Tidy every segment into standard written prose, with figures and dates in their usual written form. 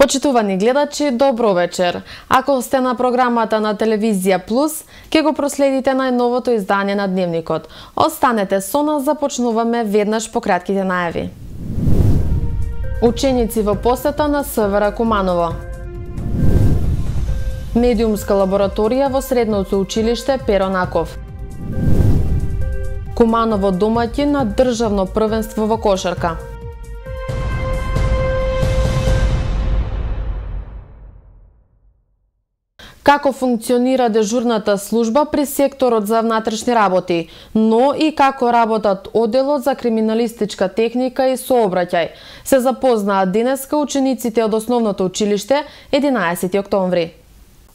Почитувани гледачи, добро вечер. Ако сте на програмата на Телевизија Плюс, ќе го проследите најновото издание на Дневникот. Останете со нас, започнуваме веднаш по кратките најави. Ученици во посета на СВР Куманово. Медиумска лабораторија во средното училиште Перо Наков. Куманово домаќин на државно првенство во кошарка. Како функционира дежурната служба при секторот за внатрешни работи, но и како работат одделот за криминалистичка техника и сообраќај, се запознаат денеска учениците од основното училиште 11 октомври.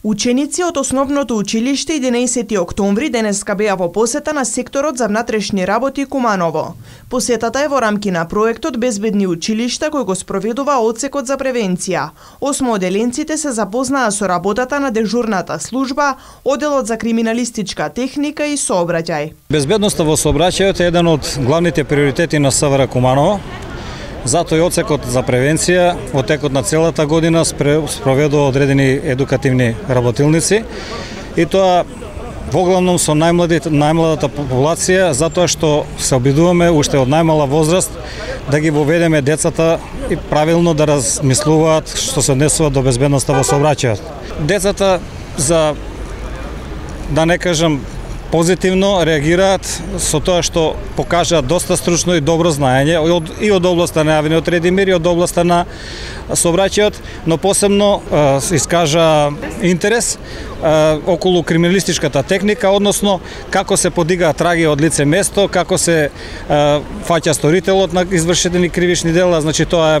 Ученици од основното училиште 11 октомври денеска беа во посета на секторот за внатрешни работи Куманово. Посетата е во рамки на проектот Безбедни училишта кој го спроведува одсекот за превенција. Осмооделенците се запознаа со работата на дежурната служба, одделот за криминалистичка техника и сообраќај. Безбедноста во сообраќајот е еден од главните приоритети на СВР Куманово. Затоа и одсекот за превенција во текот на целата година спроведува одредени едукативни работилници и тоа воглавном со најмладата популација, затоа што се обидуваме уште од најмала возраст да ги воведеме децата и правилно да размислуваат што се однесува до безбедноста во сообраќајот. Децата, за да не кажам позитивно, реагираат со тоа што покажаат доста стручно и добро знаење и од областа на јавниот ред и мир и од областа на сообраќајот, но посебно искажа интерес околу криминалистичката техника, односно како се подигаат траги од лице место, како се фаќа сторителот на извршени кривични дела, значи тоа е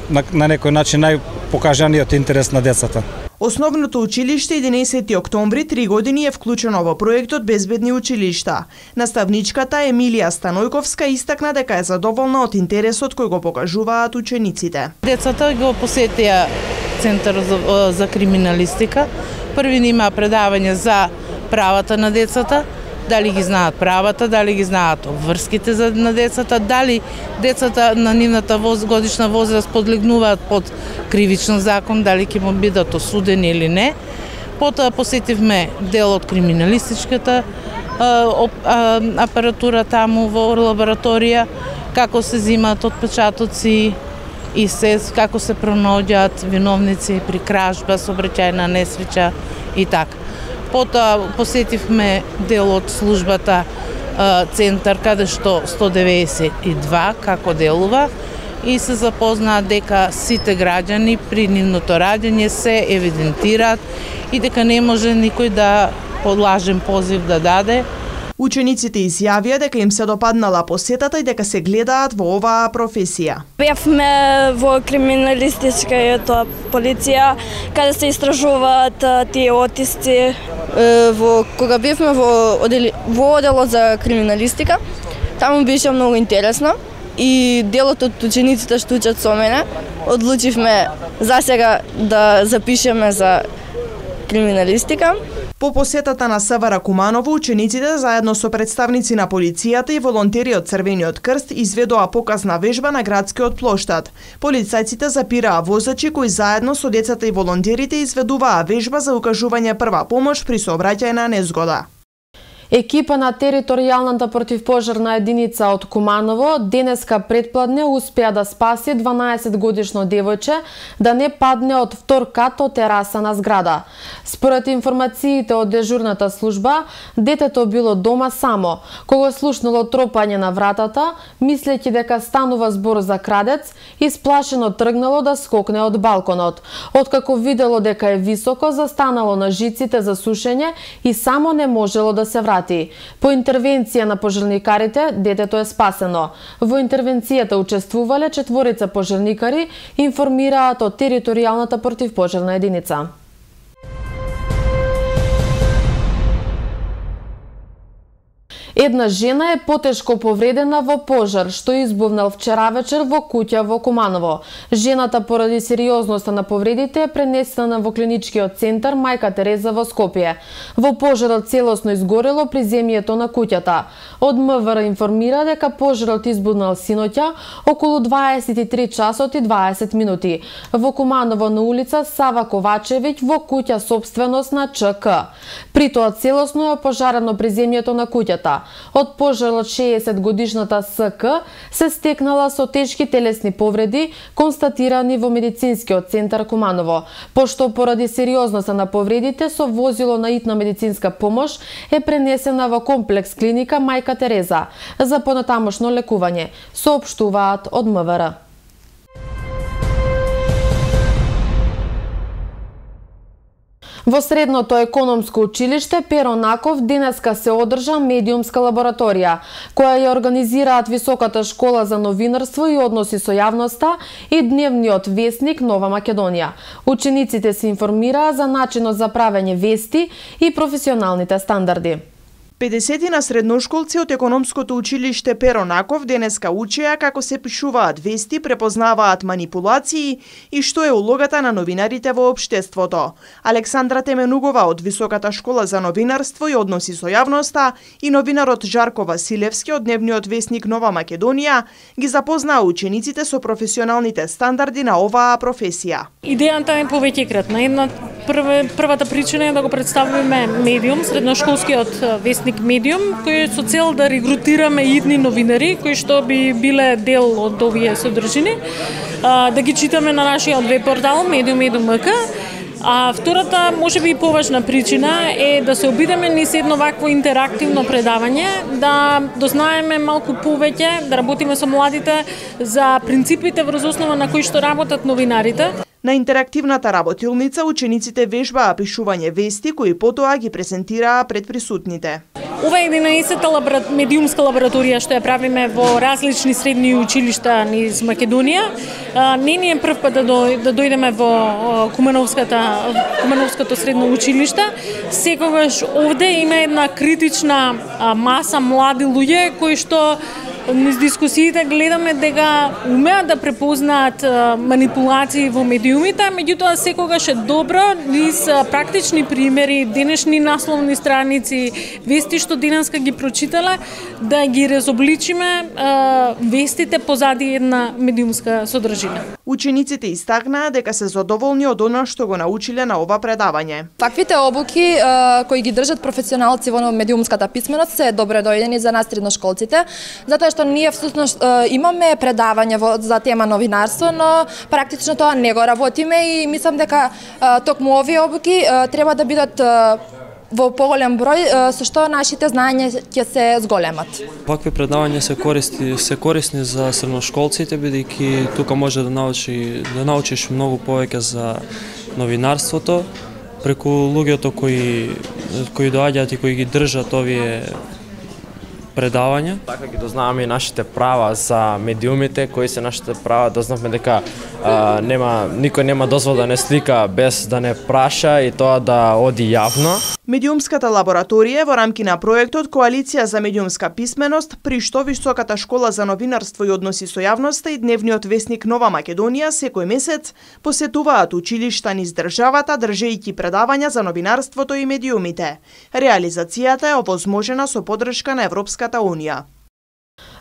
на некој начин најпокажаниот интерес на децата. Основното училиште 11 октомври 3 години е вклучено во проектот Безбедни училишта. Наставничката Емилија Станојковска истакна дека е задоволна од интересот кој го покажуваат учениците. Децата го посетија Центар за криминалистика. Први има предавање за правата на децата, дали ги знаат правата, дали ги знаат обврските на децата, дали децата на нивната годишна возраст подлегнуваат под кривичен закон, дали ќе му бидат осудени или не. Потоа посетивме дел од криминалистичката апаратура таму во лабораторија, како се земаат отпечатоци и како се пронаоѓаат виновници при кражба, сообраќајна несреќа и така. Потоа посетивме дел од службата центар каде што 192 како делува и се запознаат дека сите граѓани при нивното раѓање се евидентираат и дека не може никој да подлажен позив да даде. Учениците изјавија дека им се допаднала посетата и дека се гледаат во оваа професија. Бевме во криминалистичката полиција, каде се истражуваат тие отисци. Кога бевме во одделот за криминалистика, таму беше многу интересно и делот од учениците што учат со мене, одлучивме засега да запишеме за криминалистика. По посетата на СВР Куманово, учениците заедно со представници на полицијата и волонтери од Црвениот крст изведоа показна вежба на градскиот плоштад. Полицајците запираа возачи кои заедно со децата и волонтерите изведуваа вежба за укажување прва помош при сообраќајна незгода. Екипа на територијалната противпожарна единица од Куманово денеска предпладне успеа да спаси 12-годишно девојче да не падне од втор кат од тераса на зграда. Според информациите од дежурната служба, детето било дома само. Кога слушнало тропање на вратата, мислејќи дека станува збор за крадец, исплашено тргнало да скокне од балконот. Откако видело дека е високо, застанало на жиците за сушење и само не можело да се врати. По интервенција на пожарникарите, детето е спасено. Во интервенцијата учествувале 4 пожарникари, информираат од територијалната противпожарна единица. Една жена е потешко повредена во пожар што избувнал вчера вечер во куќа во Куманово. Жената поради сериозноста на повредите е пренесена во клиничкиот центар Мајка Тереза во Скопје. Во пожарот целосно изгорело приземјето на куќата. Од МВР информира дека пожарот избувнал синоќа околу 23 часот и 20 минути во Куманово на улица Сава Ковачевиќ во куќа собственост на ЧК. При тоа целосно е опожарено приземјето на куќата. Од пожарот 60 годишната СК се стекнала со тешки телесни повреди констатирани во медицинскиот центар Куманово, пошто поради сериозноста на повредите со возило на итна медицинска помош е пренесена во комплекс клиника Мајка Тереза за понатамошно лекување, соопштуваат од МВР. Во Средното економско училиште Перо Наков денеска се одржа медиумска лабораторија, која ја организираат Високата школа за новинарство и односи со јавноста и дневниот весник Нова Македонија. Учениците се информираа за начинот за правење вести и професионалните стандарди. 50 на средношколци од економското училиште Перо Наков денеска учеа како се пишуваат вести, препознаваат манипулации и што е улогата на новинарите во општеството. Александра Теменугова од Високата школа за новинарство и односи со јавноста и новинарот Жарко Василевски од дневниот весник Нова Македонија ги запознаа учениците со професионалните стандарди на оваа професија. Идејата е повеќекратна. Првата причина е да го представиме медиум, средношколскиот вестник медиум, кој со цел да регрутираме идни новинари кои што би биле дел од овие содржини, да ги читаме на нашиот веб портал Medium.mk. А втората, можеби и поважна причина е да се обидеме низ едно вакво интерактивно предавање, да дознаеме малку повеќе, да работиме со младите за принципите врз основа на кои што работат новинарите. На интерактивната работилница учениците вежбаа пишување вести кои потоа ги презентираа пред присутните. Ова е 11-та медиумска лабораторија што ја правиме во различни средни училишта низ Македонија. Не ни е прв пат да дојдеме во Кумановското средно училиште. Секогаш овде има една критична маса млади луѓе кои што низ дискусиите гледаме дека умеат да препознаат манипулации во медиумите, меѓутоа секогаш е добро низ практични примери, денешни насловни страници, вести што денеска ги прочитале, да ги разобличиме вестите позади една медиумска содржина. Учениците истакнаа дека се задоволни од она што го научиле на ова предавање. Таквите обуки кои ги држат професионалци во медиумската писменост се добре дојдени за нас средношколците, затоа што ние всушност имаме предавање за тема новинарство, но практично тоа не го работиме и мислам дека токму овие обуки треба да бидат во поголем број, со што нашите знаења ќе се зголемат. Вакви предавања се корисни за средношколците, бидејќи тука може да научиш многу повеќе за новинарството преку луѓето кои доаѓаат и кои ги држат овие предавања. Така ги дознаваме и нашите права за медиумите, кои се нашите права, дознавме дека никој нема дозвол да не слика без да не праша и тоа да оди јавно. Медиумската лабораторија во рамки на проектот Коалиција за медиумска писменост, при што Високата школа за новинарство и односи со јавноста и дневниот весник Нова Македонија секој месец посетуваат училишта низ државата, држејќи предавања за новинарството и медиумите. Реализацијата е овозможена со поддршка на Европската Унија.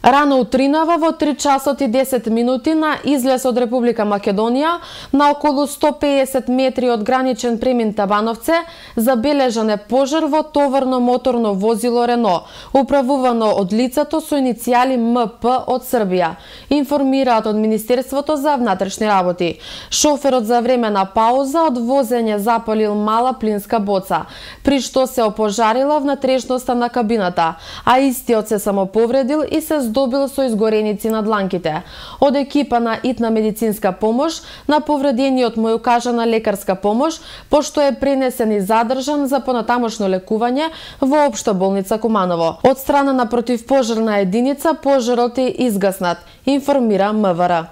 Рано утринава во 3 часот и 10 минути на излез од Република Македонија на околу 150 метри од граничен премин Табановце забележан е пожар во товарно моторно возило Рено, управувано од лицето со иницијали МП од Србија, информираат од Министерството за внатрешни работи. Шоферот за време на пауза од возење запалил мала плинска боца, при што се опожарила внатрешноста на кабината, а истиот се самоповредил и се здобил со изгореници на дланките. Од екипа на итна медицинска помош на повредениот му е укажана лекарска помош, пошто е пренесен и задржан за понатамошно лекување во Општа болница Куманово. Од страна на противпожарна единица пожарот е изгаснат, информира МВР.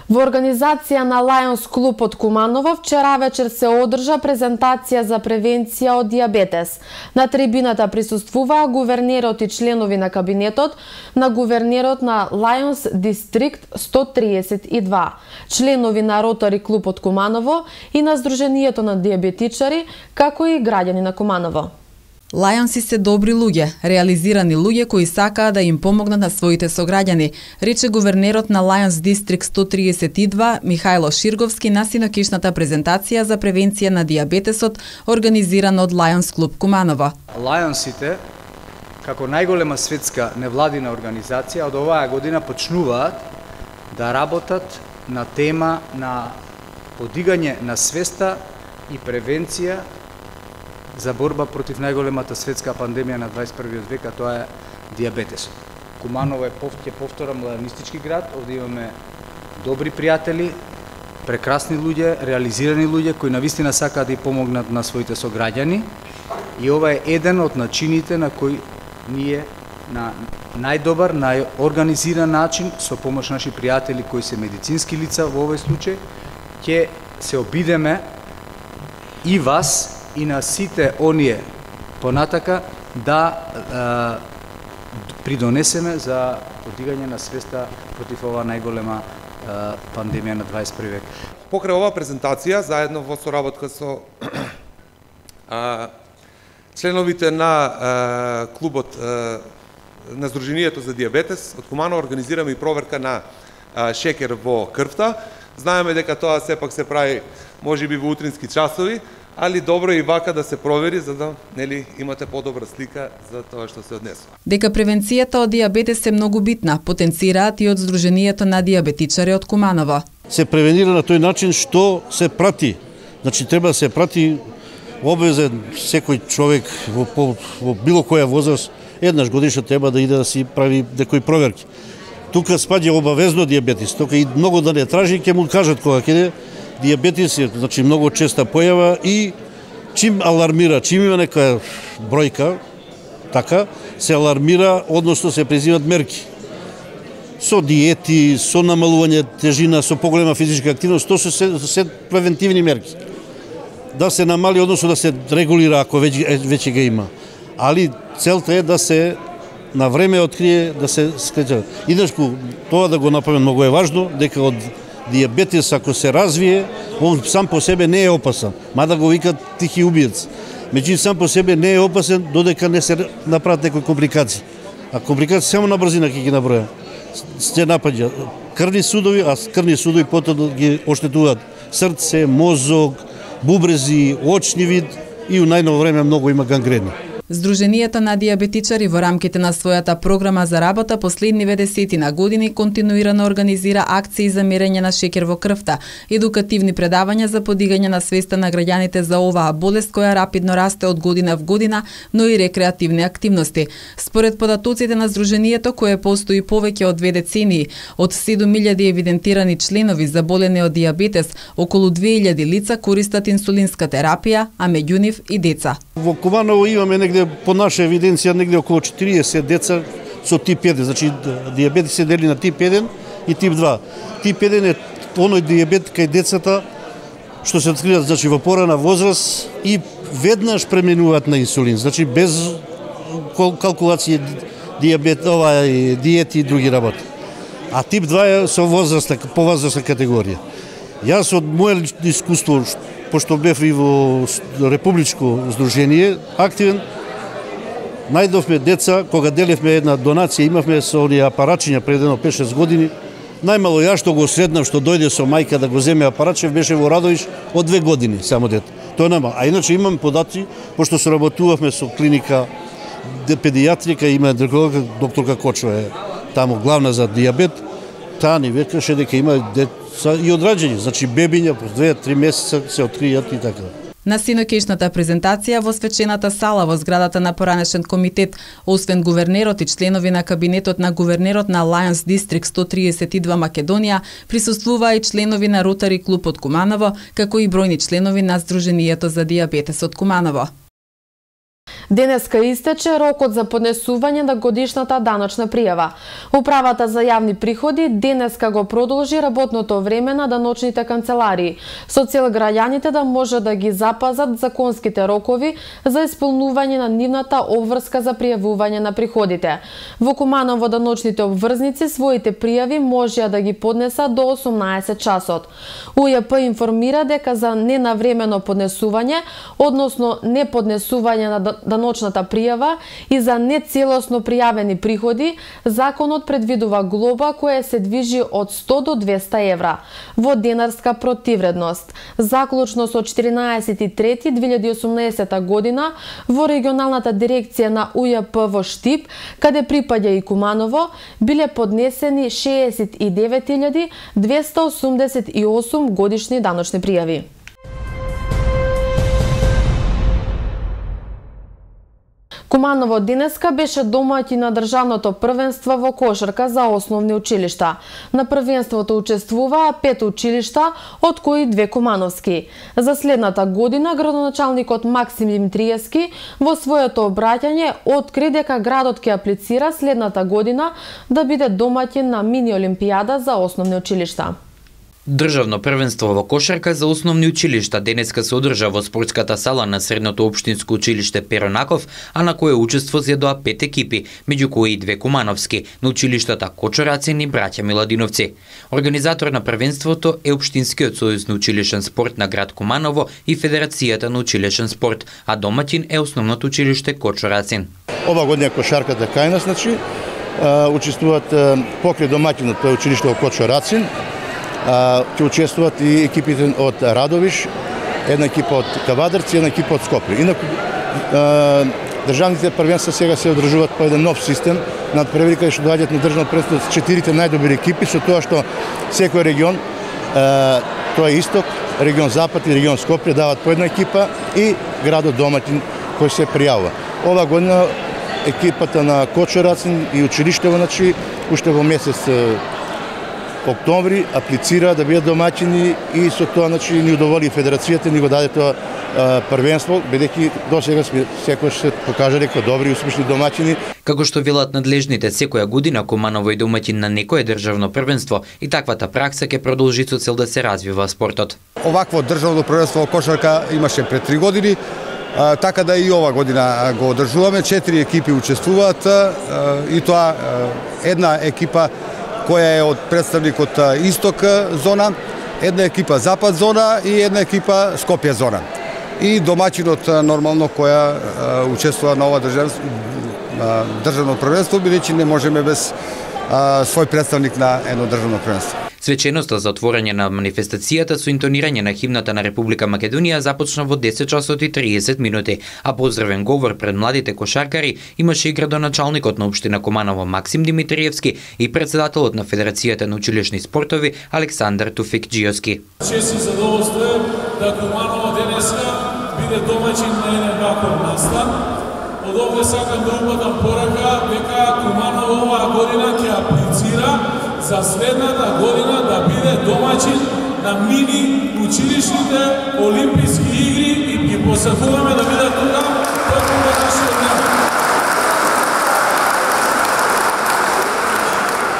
Во организација на Lions клуб од Куманово вчера вечер се одржа презентација за превенција од дијабетес. На трибината присуствуваа гувернерот и членови на кабинетот на гувернерот на Lions Дистрикт 132, членови на Ротари клуб од Куманово и на Сдруженијето на дијабетичари, како и граѓани на Куманово. Лајонси се добри луѓе, реализирани луѓе кои сакаат да им помогнат на своите сограѓани, рече гувернерот на Lions Дистрикт 132 Михајло Ширговски на синокишната презентација за превенција на дијабетесот организирана од Lions клуб Куманово. Лајонсите, како најголема светска невладина организација, од оваа година почнуваат да работат на тема на подигање на свеста и превенција за борба против најголемата светска пандемија на 21. век, а тоа е дијабетесот. Куманово е, ќе повторам, младенистички град, овде имаме добри пријатели, прекрасни луѓе, реализирани луѓе кои навистина сакаат да и помогнат на своите сограѓани, и ова е еден од начините на кои ние на најдобар, најорганизиран начин, со помош наши пријатели кои се медицински лица во овој случај, ќе се обидеме и вас и на сите оние понатака да придонесеме за подигање на свеста против оваа најголема пандемија на 21 век. Покрај оваа презентација, заедно во соработка со членовите на клубот на Сдруженијето за дијабетес од Куманово, организираме и проверка на шекер во крвта. Знаеме дека тоа сепак се прави можеби во утрински часови, али добро е и вака да се провери за да имате подобра слика за тоа што се однесува. Дека превенцијата од дијабетес е многу битна, потенцираат и од Сдруженијето на дијабетичари од Куманово. Се превенира на тој начин што се прати. Значи треба да се прати обвезен секој човек во било која возраст, еднаш годишно треба да иде да си прави некои проверки. Тука спаѓа обавезно дијабетис, тука и многу да не тражи, ќе му кажат кога ќе дијабетис е, значи, многу честа појава и чим алармира, чим има нека бројка, така, се алармира, односно се презимат мерки. Со диети, со намалување тежина, со поголема физичка активност, тоа се превентивни мерки. Да се намали, односно да се регулира ако веќе ga има. Али целта е да се на време открие, да се скреча. Иначку, тоа да го направим многу е важно, дека од дијабетес ако се развие, он сам по себе не е опасен, мада го викат тихи убиец. Меѓутоа сам по себе не е опасен додека не се направат некои компликации. А компликации само на брзина ќе ги наброја. Се напаѓа крвни судови, а крвни судови потоа ги оштетуваат срце, мозок, бубрези, очни вид и у најново време многу има гангрени. Сдруженијето на дијабетичари во рамките на својата програма за работа последниве десетина години континуирано организира акции за мерење на шекер во крвта, едукативни предавања за подигање на свеста на граѓаните за оваа болест која рапидно расте од година в година, но и рекреативни активности. Според податоците на Сдруженијето, кое постои повеќе од 2 децении, од 7000 евидентирани членови заболени од дијабетес, околу 2000 лица користат инсулинска терапија, а меѓу нив и деца. Во Куманово имаме негде по наша евиденција негде околу 40 деца со тип 1, значи дијабет се дели на тип 1 и тип 2. Тип 1 е оној дијабет кај децата што се откриваат, значи во порана возраст и веднаш преминуваат на инсулин, значи без калкулација диети и други работи. А тип 2 е со возрастна, повозрастна категорија. Јас од моје искуство, пошто бев и во Републичко здружение активен, најдовме деца, кога делевме една донација, имавме со оние апарачиња пред 5-6 години, најмало ја што го среднав, што дојде со мајка да го земе апарачев, беше во Радовиш од 2 години само дете. Тоа нема. А иначе имам податци, пошто соработувавме со клиника педијатрика, има докторка Кочо е таму главна за дијабет, таа ни векаше дека има деца и одраđени, значи бебиња по 2-3 месеца се откријат и така. На синокешната презентација во свечената сала во зградата на поранешен комитет, освен гувернерот и членови на кабинетот на гувернерот на Lions Дистрикт 132 Македонија, присуствуваа и членови на Ротари клуб од Куманово, како и бројни членови на Сдруженијето за дијабетес од Куманово. Денеска истече рокот за поднесување на годишната даночна пријава. Управата за јавни приходи денеска го продолжи работното време на даночните канцеларии, со цел граѓаните да може да ги запазат законските рокови за исполнување на нивната обврска за пријавување на приходите. Во Куманово даночните обврзници своите пријави можеа да ги поднесат до 18 часот. УЈП информира дека за ненавремено поднесување, односно неподнесување на даночната пријава и за нецелосно пријавени приходи, законот предвидува глоба која се движи од 100 до 200 евра во денарска противредност. Заклучно со 14.3.2018 година во регионалната дирекција на УЈП во Штип, каде припаѓа и Куманово, биле поднесени 69.288 годишни даночни пријави. Куманово денеска беше домаќин на државното првенство во кошарка за основни училишта. На првенството учествуваа 5 училишта, од кои 2 кумановски. За следната година градоначалникот Максим Димитриевски во своето обраќање откри дека градот ќе аплицира следната година да биде домаќин на мини олимпијада за основни училишта. Државно првенство во кошарка за основни училишта денеска се одржа во спортската сала на Средното општинско училиште Перо Наков, а на кое учество зедоа 5 екипи, меѓу кои и 2 кумановски, на училиштата Кочорацин и браќа Миладиновци. Организатор на првенството е Општинскиот сојуз на училишен спорт на град Куманово и Федерацијата на училишен спорт, а домаќин е основното училиште Кочорацин. Ова година кошарката кај нас, значи, учествуваат покрај домаќинот, тоа е училиште во Кочорацин. Ќе учествуваат и екипите од Радовиш, една екипа од Кавадарци, една екипа од Скопје. Инаку државните првенства сега се одржуваат по еден нов систем, надпревари каде што доаѓаат на државно првенство 4 најдобри екипи, со тоа што секој регион, тоа е Исток, регион Запад и регион Скопје даваат по една екипа и градот домаќин кој се пријавува. Ова година екипата на Кочорацин и училиштево, значи, уште во месец октомври аплицира да бидат домаќини и со тоа, значи, ни удоволи федерацијата, ни го даде тоа првенство, бидејќи досега секојаш се покажале како добри и успешни домаќини. Како што велат надлежните, секоја година Куманово е домаќин на некое државно првенство и таквата пракса ќе продолжи со цел да се развива спортот. Овакво државно првенство во кошарка имаше пред 3 години, така да и ова година го одржуваме. 4 екипи учествуваат и тоа една екипа која е од представник од Исток зона, една екипа Запад зона и една екипа Скопје зона. И домаќинот нормално која учествува на ова државно првенство, бидејќи не можеме без свој представник на едно државно првенство. Свеченоста за отворање на манифестацијата со интонирање на химната на Република Македонија започна во 10 часот и 30 минути, а поздравен говор пред младите кошаркари имаше и градоначалникот на општина Куманово Максим Димитриевски и председателот на Федерацијата на училишни спортови Александар Туфикџиевски. Чест и задоволство е да Куманово денеска биде домаќин на еден ваков настан. Од овде сакам да упатам порака дека Куманово оваа година ќе аплицира за следната година да биде домаќин на мини училишните олимписки игри и ги посакуваме да бидат тука токму во нашиот ден.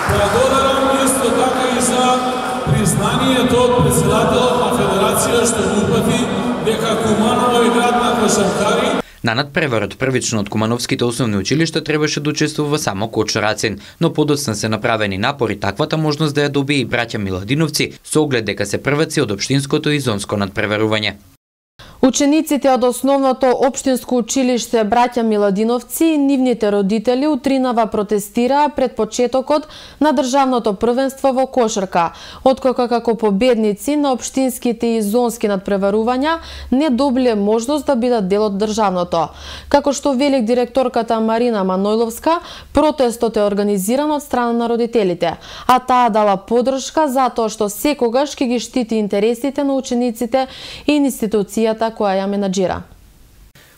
Благодарам исто така и за признанието од председателот на Федерација што го упати дека Куманово е град на кошаркари. На надпреварот првично од кумановските основни училишта требаше да учествува само Кочорацин, но подоцна се направени напори таквата можност да ја добие и браќа Миладиновци, со оглед дека се прваци од општинското и зонско надпреварување. Учениците од основното општинско училиште браќа Миладиновци и нивните родители утринава протестираа пред почетокот на државното првенство во кошарка, откако како победници на општинските и зонски надпреварувања не добиле можност да бидат дел од државното. Како што вели директорката Марина Манојловска, протестот е организиран од страна на родителите, а таа дала поддршка затоа што секогаш ќе ги штити интересите на учениците и институцијата која ја менаџира.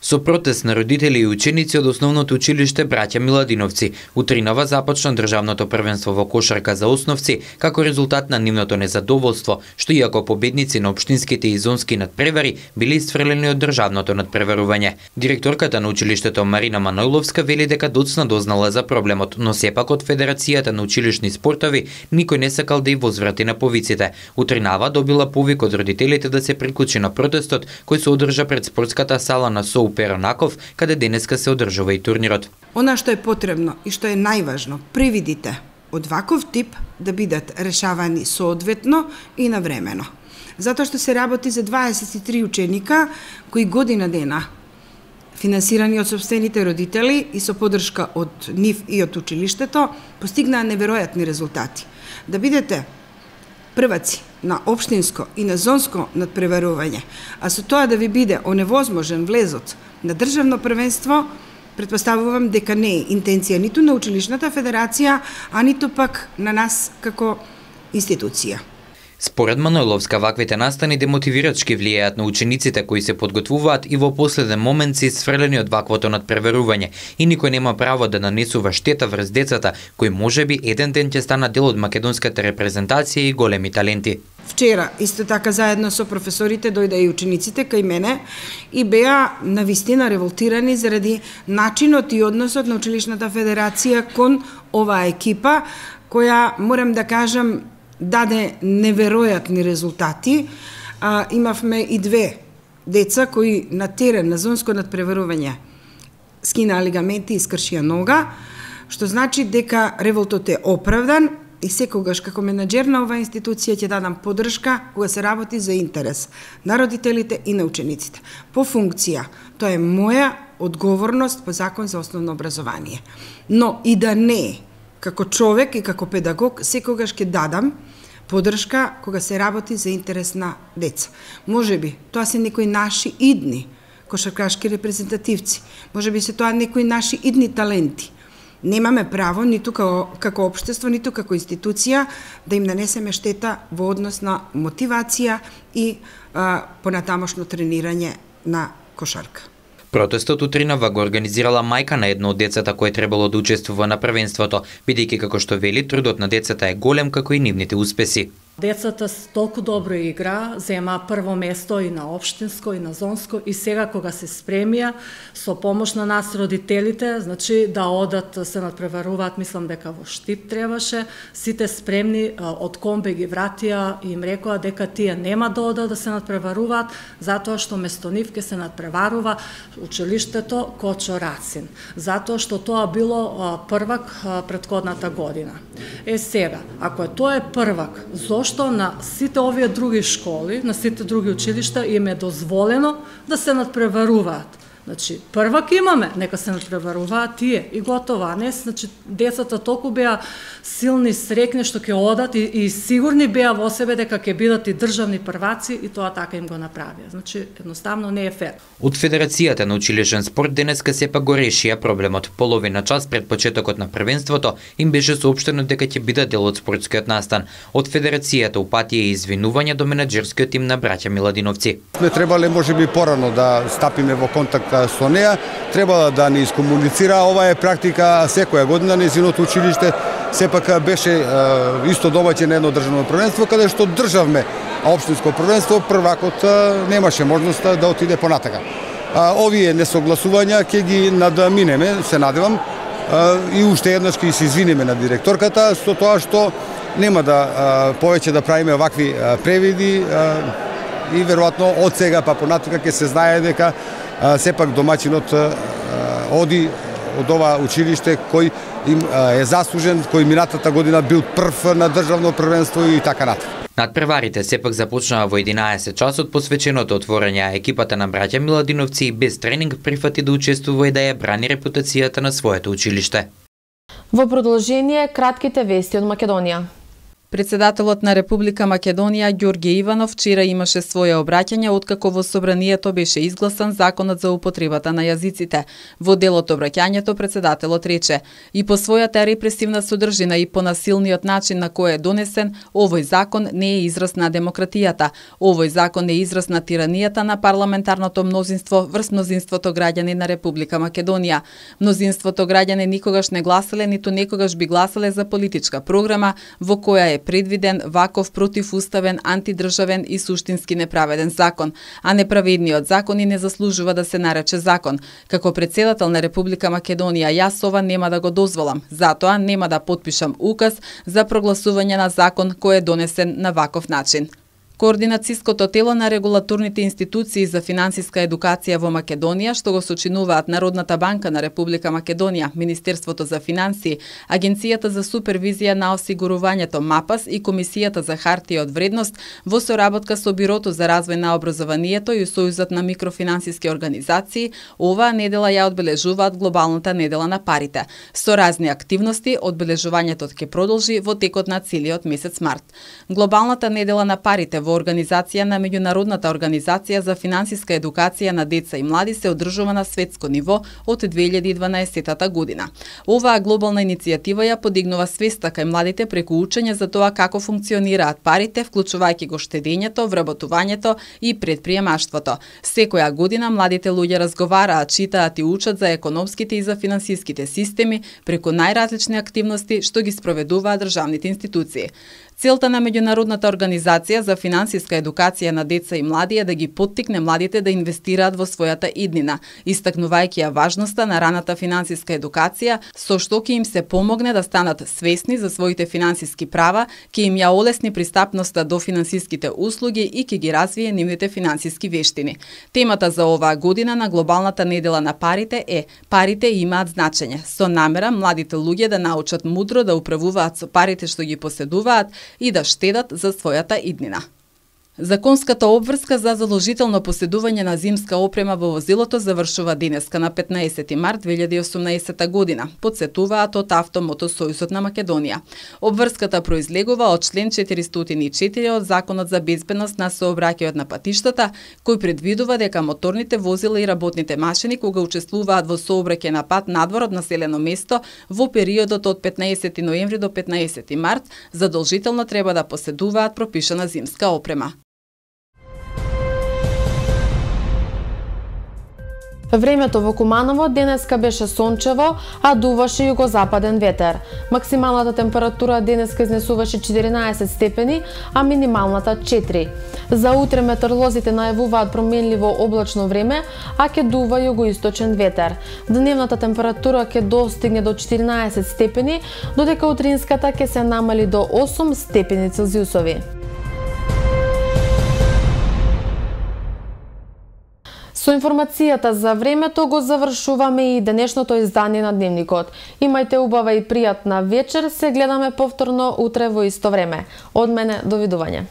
Со протест на родители и ученици од основното училиште Браќа Миладиновци, утринава започна државното првенство во кошарка за основци, како резултат на нивното незадоволство, што иако победници на општинските и зонски надпревари били исфрлени од државното надпреварување. Директорката на училиштето Марина Манојловска вели дека доцна дознала за проблемот, но сепак од Федерацијата на училишни спортови никој не сакал да ја возврати на повиците. Утринава добила повик од родителите да се приклучи на протестот кој се одржа пред спортската сала на СОУ Перонаков, каде денеска се одржува и турнирот. Она што е потребно и што е најважно, привидите од ваков тип да бидат решавани соодветно и навремено. Затоа што се работи за 23 ученика кои година дена финансирани од сопствените родители и со поддршка од нив и од училиштето, постигнаа неверојатни резултати. Да бидете прваци на општинско и на зонско надпреварување, а со тоа да ви биде оневозможен влезот на државно првенство, претпоставувам дека не е интенција ниту на училишната федерација, а ниту пак на нас како институција. Според Манојловска, ваквите настани демотивирачки влијаат на учениците кои се подготвуваат и во последен момент се исфрлени од ваквото надпреварување и никој нема право да нанесува штета врз децата кои можеби еден ден ќе станат дел од македонската репрезентација и големи таленти. Вчера, исто така заедно со професорите, дојде и учениците кај мене и беа навистина револтирани заради начинот и односот на училишната федерација кон оваа екипа, која, морам да кажам, даде неверојатни резултати. Имавме и две деца кои на терен, на зонско надпреварување, скинаа лигаменти и скршија нога, што значи дека револтот е оправдан и секогаш како менаџер на оваа институција ќе дадам поддршка кога се работи за интерес на родителите и на учениците. По функција, тоа е моја одговорност по закон за основно образование. Но и да не, како човек и како педагог, секогаш ќе дадам поддршка кога се работи за интерес на деца. Можеби тоа се некои наши идни кошаркашки репрезентативци, можеби се тоа некои наши идни таленти. Немаме право, ниту како општество, ниту како институција, да им нанесеме штета во однос на мотивација и понатамошно тренирање на кошарка. Протестот утринава го организирала мајка на едно од децата кој требало да учествува на првенството, бидејќи како што вели, трудот на децата е голем како и нивните успеси. Децата толку добро игра, зема прво место и на општинско и на зонско и сега кога се спремија со помош на нас родителите, значи да одат се надпреваруваат, мислам дека во Штип требаше, сите спремни од Комбе ги вратија и им рекоа дека тие нема да одат да се надпреваруваат затоа што место нив ќе се надпреварува училиштето Кочо Рацин, затоа што тоа било првак претходната година. Сега, ако тоа е првак, што на сите овие други школи, на сите други училишта им е дозволено да се надпреваруваат. Значи, првак имаме, нека се надпреваруваат тие и готово, а не, значи, децата толку беа силни, срекни што ќе одат и сигурни беа во себе дека ќе бидат и државни прваци и тоа така им го направија. Значи, едноставно не е фер. Од Федерацијата на училишен спорт денеска сепак го решија проблемот. Половина час пред почетокот на првенството им беше соопштено дека ќе бидат дел од спортскиот настан. Од Федерацијата упатија извинувања до менаџерскиот тим на Браќа Миладиновци. Сме требале можеби порано да стапиме во контакт со неа, требала да ни искомуницира. Ова е практика секоја година. Нејзиното училиште сепак беше исто домаќин на едно државно првенство, каде што државме општинско првенство, првакот немаше можност да отиде понатака. Овие несогласувања ќе ги надминеме, се надевам, и уште еднаш ќе се извиниме на директорката со тоа што нема да повеќе да правиме вакви превиди и веројатно од сега па понатака ќе се знае дека сепак домаќинот оди од ова училиште кој им е заслужен, кој минатата година бил прв на државно првенство и така натаму. Надпреварите сепак започнаа во 11 часот посвеченото отворање, а екипата на Браќа Миладиновци без тренинг прифати да учествува и да ја брани репутацијата на своето училиште. Во продолжение, кратките вести од Македонија. Председателот на Република Македонија Ѓорѓе Иванов вчера имаше свое обраќање откако во собранието беше изгласан законот за употребата на јазиците. Во дел од обраќањето председателот рече: "И по својата репресивна содржина и по насилниот начин на кој е донесен, овој закон не е израз на демократијата. Овој закон е израз на тиранијата на парламентарното мнозинство врз мнозинството граѓани на Република Македонија. Мнозинството граѓани никогаш не гласале, ниту некогаш би гласале за политичка програма во која е предвиден ваков противуставен, антидржавен и суштински неправеден закон, а неправедниот закон и не заслужува да се нарече закон. Како председател на Република Македонија, јас ова нема да го дозволам. Затоа нема да потпишам указ за прогласување на закон кој е донесен на ваков начин." Координацијското тело на регулаторните институции за финансиска едукација во Македонија, што го сочинуваат Народната банка на Република Македонија, Министерството за финансии, Агенцијата за супервизија на осигурувањето МАПАС и Комисијата за хартија од вредност, во соработка со Бирото за развој на образованието и Сојузот на микрофинансиски организации, оваа недела ја одбележуваат глобалната недела на парите. Со разни активности, одбележувањето ќе продолжи во текот на целиот месец март. Глобалната недела на парите во организација на Меѓународната организација за финансиска едукација на деца и млади се одржува на светско ниво од 2012 година. Оваа глобална иницијатива ја подигнува свеста кај младите преку учење за тоа како функционираат парите, вклучувајќи го штедењето, вработувањето и предприемаштвото. Секоја година младите луѓе разговараат, читаат и учат за економските и за финансиските системи преку најразлични активности што ги спроведуваат државните институции. Целта на Меѓународната организација за финансиска едукација на деца и млади е да ги поттикне младите да инвестираат во својата иднина, истакнувајќи ја важноста на раната финансиска едукација, со што ќе им се помогне да станат свесни за своите финансиски права, ќе им ја олесни пристапноста до финансиските услуги и ќе ги развие нивните финансиски вештини. Темата за оваа година на глобалната недела на парите е "Парите имаат значење", со намера младите луѓе да научат мудро да управуваат со парите што ги поседуваат и да штедат за својата иднина. Законската обврска за задолжително поседување на зимска опрема во возилото завршува денеска на 15 март 2018 година, подсетуваат од Автомотосојузот на Македонија. Обврската произлегува од член 404 од Законот за безбедност на сообраќајот на патиштата, кој предвидува дека моторните возила и работните машини кога учествуваат во сообраќај на пат надвор од населено место во периодот од 15 ноември до 15 март задолжително треба да поседуваат пропишана зимска опрема. Времето во Куманово денеска беше сончево, а дуваше југозападен ветер. Максималната температура денеска изнесуваше 14 степени, а минималната 4. За утре метеоролозите најавуваат променливо облачно време, а ќе дува југоисточен ветер. Дневната температура ќе достигне до 14 степени, додека утринската ќе се намали до 8 степени Целзиусови. Со информацијата за времето го завршуваме и денешното издание на Дневникот. Имајте убава и пријатна вечер, се гледаме повторно утре во исто време. Од мене, довидување.